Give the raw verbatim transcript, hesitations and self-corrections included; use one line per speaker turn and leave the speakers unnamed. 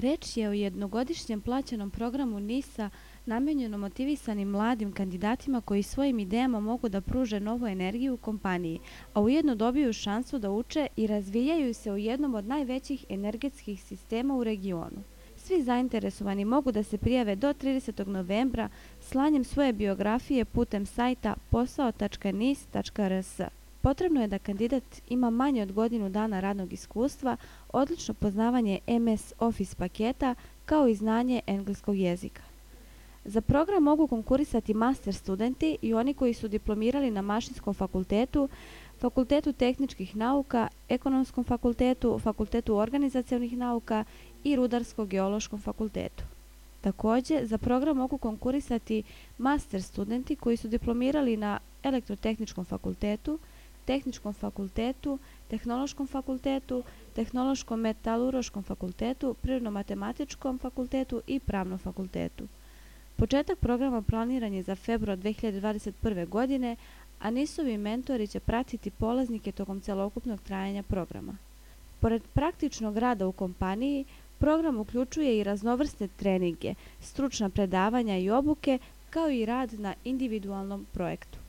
Reč je o jednogodišnjem plaćenom programu NIS-a namijenjenom motivisanim mladim kandidatima koji svojim idejama mogu da pruže novu energiju u kompaniji, a ujedno dobiju šansu da uče i razvijaju se u jednom od najvećih energetskih sistema u regionu. Svi zainteresovani mogu da se prijave do tridesetog novembra slanjem svoje biografije putem sajta posao tačka nis tačka r s. Potrebno je da kandidat ima manje od godinu dana radnog iskustva, odlično poznavanje em es Office paketa, kao i znanje engleskog jezika. Za program mogu konkurisati master studenti i oni koji su diplomirali na Mašinskom fakultetu, Fakultetu tehničkih nauka, Ekonomskom fakultetu, Fakultetu organizacionih nauka i Rudarsko-geološkom fakultetu. Takođe, za program mogu konkurisati master studenti koji su diplomirali na Elektrotehničkom fakultetu, Tehničkom fakultetu, Tehnološkom fakultetu, Tehnološko-metalurškom fakultetu, Prirodno-matematičkom fakultetu i Pravnom fakultetu. Početak programa planiran je za februar dve hiljade dvadeset prve. godine, a NIS-ovi mentori će pratiti polaznike tokom celokupnog trajanja programa. Pored praktičnog rada u kompaniji, program uključuje i raznovrsne treninge, stručna predavanja i obuke, kao i rad na individualnom projektu.